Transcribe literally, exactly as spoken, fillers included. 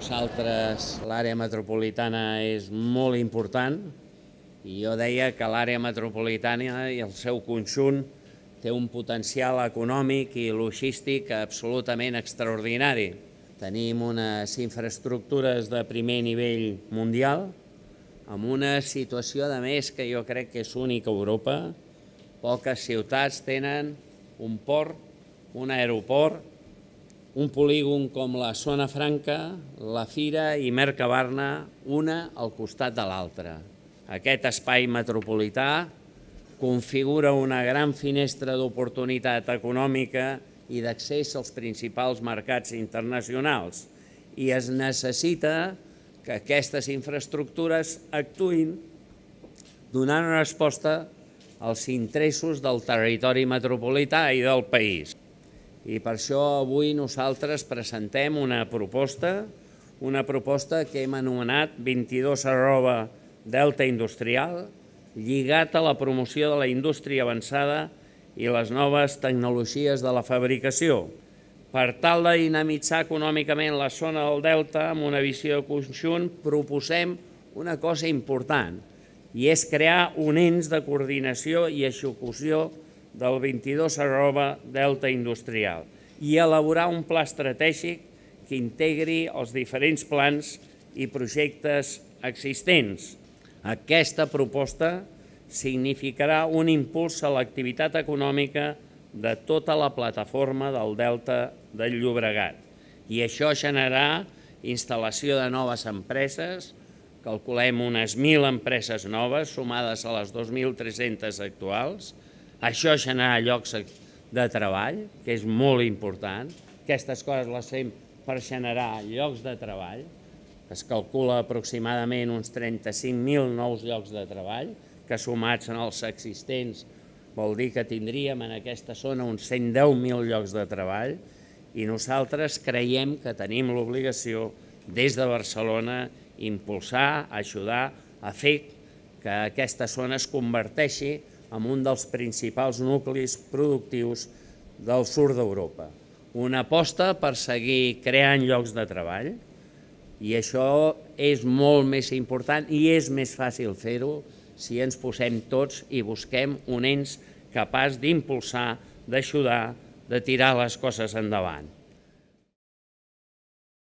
nosaltres l'àrea metropolitana és molt important i jo deia que l'àrea metropolitana i el seu conjunt té un potencial econòmic i logístic absolutament extraordinari. Tenim unes infraestructures de primer nivell mundial, amb una situació, a més, que jo crec que és única a Europa. Poques ciutats tenen un port, un aeroport, un polígon com la Zona Franca, la Fira i Mercabarna, una al costat de l'altra. Aquest espai metropolità configura una gran finestra d'oportunitat econòmica i d'accés als principals mercats internacionals i es necessita que aquestes infraestructures actuïn donant una resposta als interessos del territori metropolità i del país. I per això avui nosaltres presentem una proposta, una proposta que hem anomenat vint-i-dos arroba Delta Industrial, lligat a la promoció de la indústria avançada i les noves tecnologies de la fabricació, per tal de dinamitzar econòmicament la zona del Delta amb una visió conjunt, proposem una cosa important, i és crear un ens de coordinació i execució del vint-i-dos arroba Delta Industrial i elaborar un pla estratègic que integri els diferents plans i projectes existents. Aquesta proposta significarà un impuls a l'activitat econòmica de tota la plataforma del Delta del Llobregat i això generarà instal·lació de noves empreses, calculem unes mil empreses noves sumades a les dos mil tres-centes actuals. Això generarà llocs de treball, que és molt important. Aquestes coses les fem per generar llocs de treball. Es calcula aproximadament uns trenta-cinc mil nous llocs de treball, que sumats en els existents vol dir que tindríem en aquesta zona uns cent deu mil llocs de treball i nosaltres creiem que tenim l'obligació des de Barcelona impulsar, ajudar a fer que aquesta zona es converteixi en un dels principals nuclis productius del sud d'Europa. Una aposta per seguir creant llocs de treball i això és molt més important i és més fàcil fer-ho si ens posem tots i busquem un ens capaç d'impulsar, d'ajudar, de tirar les coses endavant.